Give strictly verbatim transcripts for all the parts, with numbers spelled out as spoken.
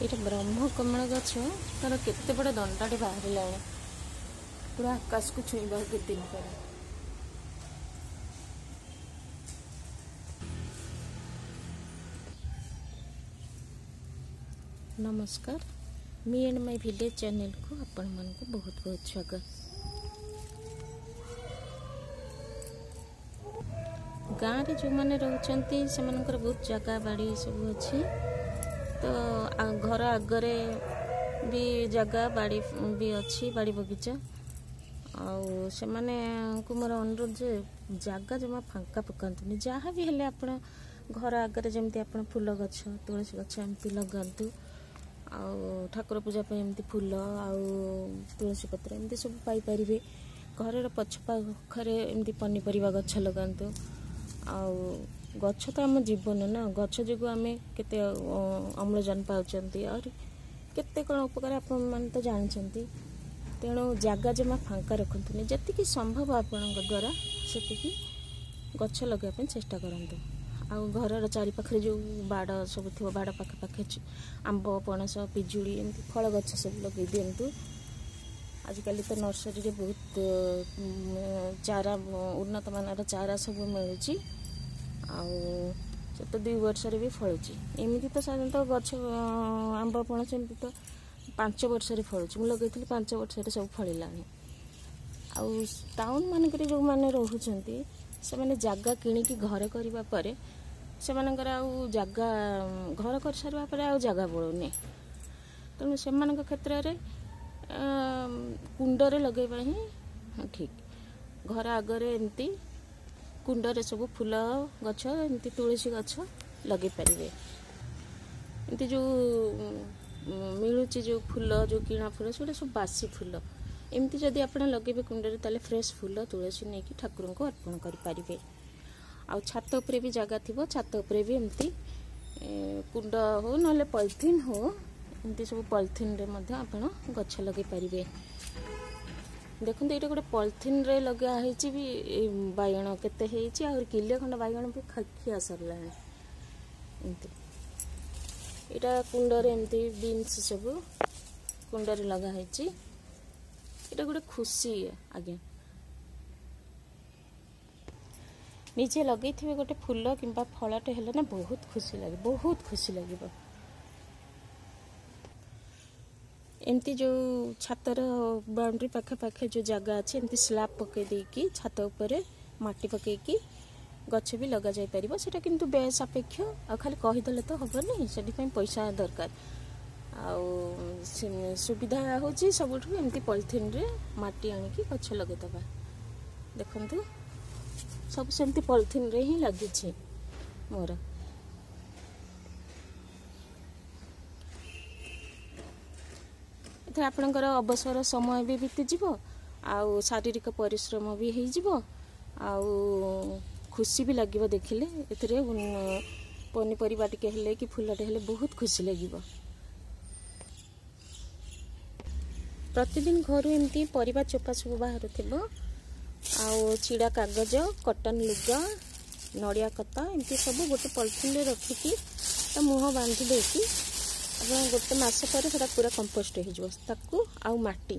ଏଇଟା ବ୍ରହ୍ମକମଳ ଗଛ, ତାର କେତେ ବଡ଼ ଦଣ୍ଡାଟେ ବାହାରିଲାଣି, ପୁରା ଆକାଶକୁ ଛୁଇଁବା କେତେ ଦିନ ପରେ। ନମସ୍କାର, ମି ଆଣ୍ଡ my village ଚ୍ୟାନେଲକୁ ଆପଣମାନଙ୍କୁ ବହୁତ ବହୁତ ସ୍ୱାଗତ। ଗାଁରେ ଯେଉଁମାନେ ରହୁଛନ୍ତି ସେମାନଙ୍କର ବହୁତ ଜାଗା ବାଡ଼ି ସବୁ ଅଛି, ତ ଘର ଆଗରେ ବି ଜାଗା ବାଡ଼ି ବି ଅଛି, ବାଡ଼ି ବଗିଚା। ଆଉ ସେମାନଙ୍କୁ ମୋର ଅନୁରୋଧ ଯେ ଜାଗା ଜମା ଫାଙ୍କା ପକାନ୍ତୁନି। ଯାହା ବି ହେଲେ ଆପଣ ଘର ଆଗରେ ଯେମିତି ଆପଣ ଫୁଲ ଗଛ, ତୁଳସୀ ଗଛ ଏମିତି ଲଗାନ୍ତୁ, ଆଉ ଠାକୁର ପୂଜା ପାଇଁ ଏମିତି ଫୁଲ ଆଉ ତୁଳସୀ ପତ୍ର ଏମିତି ସବୁ ପାଇପାରିବେ। ଘରର ପଛ ପାଖରେ ଏମିତି ପନିପରିବା ଗଛ ଲଗାନ୍ତୁ। ଆଉ ଗଛ ତ ଆମ ଜୀବନ ନା, ଗଛ ଯୋଗୁଁ ଆମେ କେତେ ଅମ୍ଳଜାନ ପାଉଛନ୍ତି, ଆହୁରି କେତେ କ'ଣ ଉପକାର ଆପଣମାନେ ତ ଜାଣିଛନ୍ତି। ତେଣୁ ଜାଗା ଜମା ଫାଙ୍କା ରଖନ୍ତୁନି, ଯେତିକି ସମ୍ଭବ ଆପଣଙ୍କ ଦ୍ୱାରା ସେତିକି ଗଛ ଲଗାଇବା ପାଇଁ ଚେଷ୍ଟା କରନ୍ତୁ। ଆଉ ଘରର ଚାରିପାଖରେ ଯେଉଁ ବାଡ଼ ସବୁ ଥିବ, ବାଡ଼ ପାଖାପାଖି ଆମ୍ବ, ପଣସ, ପିଜୁଳି ଏମିତି ଫଳ ଗଛ ସବୁ ଲଗାଇ ଦିଅନ୍ତୁ। ଆଜିକାଲି ତ ନର୍ସରୀରେ ବହୁତ ଚାରା, ଉନ୍ନତମାନର ଚାରା ସବୁ ମିଳୁଛି, ଆଉ ସେ ତ ଦୁଇ ବର୍ଷରେ ବି ଫଳୁଛି। ଏମିତି ତ ସାଧାରଣତଃ ଗଛ ଆମ୍ବ ପଣସ ଏମିତି ତ ପାଞ୍ଚ ବର୍ଷରେ ଫଳୁଛି, ମୁଁ ଲଗେଇଥିଲି ପାଞ୍ଚ ବର୍ଷରେ ସବୁ ଫଳିଲାଣି। ଆଉ ଟାଉନ୍ ମାନଙ୍କରେ ଯେଉଁମାନେ ରହୁଛନ୍ତି ସେମାନେ ଜାଗା କିଣିକି ଘର କରିବା ପରେ ସେମାନଙ୍କର ଆଉ ଜାଗା, ଘର କରିସାରିବା ପରେ ଆଉ ଜାଗା ବଳୁନି। ତେଣୁ ସେମାନଙ୍କ କ୍ଷେତ୍ରରେ କୁଣ୍ଡରେ ଲଗାଇବା ହିଁ ଠିକ୍। ଘର ଆଗରେ ଏମିତି କୁଣ୍ଡରେ ସବୁ ଫୁଲ ଗଛ, ଏମିତି ତୁଳସୀ ଗଛ ଲଗାଇ ପାରିବେ। ଏମିତି ଯେଉଁ ମିଳୁଛି ଯେଉଁ ଫୁଲ, ଯେଉଁ କିଣା ଫୁଲ, ସେଗୁଡ଼ା ସବୁ ବାସି ଫୁଲ। ଏମିତି ଯଦି ଆପଣ ଲଗାଇବେ କୁଣ୍ଡରେ ତାହେଲେ ଫ୍ରେଶ୍ ଫୁଲ ତୁଳସୀ ନେଇକି ଠାକୁରଙ୍କୁ ଅର୍ପଣ କରିପାରିବେ। ଆଉ ଛାତ ଉପରେ ବି ଜାଗା ଥିବ, ଛାତ ଉପରେ ବି ଏମିତି କୁଣ୍ଡ ହଉ ନହେଲେ ପଲିଥିନ୍ ହଉ, ଏମିତି ସବୁ ପଲିଥିନ୍ରେ ମଧ୍ୟ ଆପଣ ଗଛ ଲଗାଇ ପାରିବେ। ଦେଖନ୍ତୁ ଏଇଟା ଗୋଟେ ପଲିଥିନ୍ରେ ଲଗା ହେଇଛି ବି, ବାଇଗଣ କେତେ ହେଇଛି, ଆହୁରି କିଲେ ଖଣ୍ଡ ବାଇଗଣ ବି ଖିଆ ସରିଲାଣି। ଏମିତି ଏଇଟା କୁଣ୍ଡରେ ଏମିତି ବିନ୍ସ ସବୁ କୁଣ୍ଡରେ ଲଗା ହେଇଛି। ଏଇଟା ଗୋଟେ ଖୁସି ଆଜ୍ଞା, ନିଜେ ଲଗେଇଥିବେ ଗୋଟେ ଫୁଲ କିମ୍ବା ଫଳଟେ ହେଲେ ନା ବହୁତ ଖୁସି ଲାଗେ, ବହୁତ ଖୁସି ଲାଗିବ। ଏମିତି ଯେଉଁ ଛାତର ବାଉଣ୍ଡ୍ରି ପାଖାପାଖି ଯେଉଁ ଜାଗା ଅଛି, ଏମିତି ସ୍ଲାବ୍ ପକାଇ ଦେଇକି ଛାତ ଉପରେ ମାଟି ପକାଇକି ଗଛ ବି ଲଗାଯାଇପାରିବ। ସେଇଟା କିନ୍ତୁ ବ୍ୟୟ ସାପେକ୍ଷ, ଆଉ ଖାଲି କହିଦେଲେ ତ ହେବନି, ସେଥିପାଇଁ ପଇସା ଦରକାର। ଆଉ ସୁବିଧା ହେଉଛି ସବୁଠୁ ଏମିତି ପଲିଥିନ୍ରେ ମାଟି ଆଣିକି ଗଛ ଲଗାଇଦେବା। ଦେଖନ୍ତୁ ସବୁ ସେମିତି ପଲିଥିନ୍ରେ ହିଁ ଲାଗିଛି ମୋର। ଏଥିରେ ଆପଣଙ୍କର ଅବସର ସମୟ ବି ବିତିଯିବ, ଆଉ ଶାରୀରିକ ପରିଶ୍ରମ ବି ହେଇଯିବ, ଆଉ ଖୁସି ବି ଲାଗିବ ଦେଖିଲେ। ଏଥିରେ ପନିପରିବା ଟିକେ ହେଲେ କି ଫୁଲଟେ ହେଲେ ବହୁତ ଖୁସି ଲାଗିବ। ପ୍ରତିଦିନ ଘରୁ ଏମିତି ପରିବା ଚୋପା ସବୁ ବାହାରୁଥିବ, ଆଉ ଚିଡ଼ା କାଗଜ, କଟନ୍ ଲୁଗା, ନଡ଼ିଆ କତା ଏମିତି ସବୁ ଗୋଟେ ପଲିଥିନ୍ରେ ରଖିକି ତା ମୁହଁ ବାନ୍ଧି ଦେଇକି ଆପଣ ଗୋଟେ ମାସ ପରେ ସେଟା ପୁରା କମ୍ପୋଷ୍ଟ ହେଇଯିବ। ତାକୁ ଆଉ ମାଟି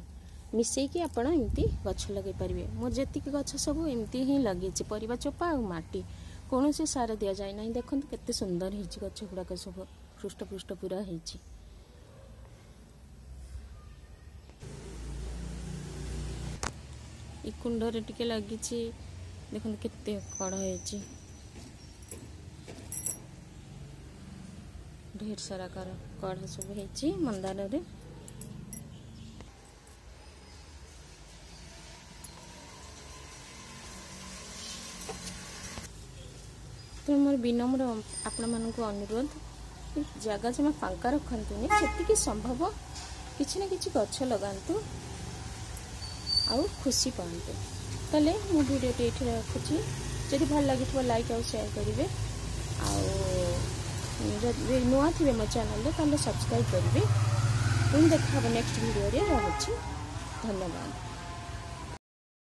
ମିଶେଇକି ଆପଣ ଏମିତି ଗଛ ଲଗାଇ ପାରିବେ। ମୋର ଯେତିକି ଗଛ ସବୁ ଏମିତି ହିଁ ଲାଗିଛି, ପରିବା ଚୋପା ଆଉ ମାଟି, କୌଣସି ସାର ଦିଆଯାଏ ନାହିଁ। ଦେଖନ୍ତୁ କେତେ ସୁନ୍ଦର ହେଇଛି ଗଛ ଗୁଡ଼ାକ, ସବୁ ହୃଷ୍ଟପୃଷ୍ଟ ପୁରା ହେଇଛି। ଏ କୁଣ୍ଡରେ ଟିକେ ଲାଗିଛି, ଦେଖନ୍ତୁ କେତେ କଢ଼ ହେଇଛି, ଢେର ସାରା କଢ଼ ସବୁ ହେଇଛି ମନ୍ଦାରରେ। ତେଣୁ ମୋର ବିନମ୍ର ଆପଣମାନଙ୍କୁ ଅନୁରୋଧ, ଜାଗା ଜମା ଫାଙ୍କା ରଖନ୍ତୁନି, ଯେତିକି ସମ୍ଭବ କିଛି ନା କିଛି ଗଛ ଲଗାନ୍ତୁ ଆଉ ଖୁସି ପାଆନ୍ତୁ। ତାହେଲେ ମୁଁ ଭିଡ଼ିଓଟି ଏଇଠି ରଖୁଛି। ଯଦି ଭଲ ଲାଗିଥିବ ଲାଇକ୍ ଆଉ ସେୟାର କରିବେ, ଆଉ ଯଦି ନୂଆ ଥିବେ ମୋ ଚ୍ୟାନେଲରେ ତାହେଲେ ସବସ୍କ୍ରାଇବ୍ କରିବେ। ପୁଣି ଦେଖା ହେବ ନେକ୍ସଟ ଭିଡ଼ିଓରେ। ରହୁଛି, ଧନ୍ୟବାଦ।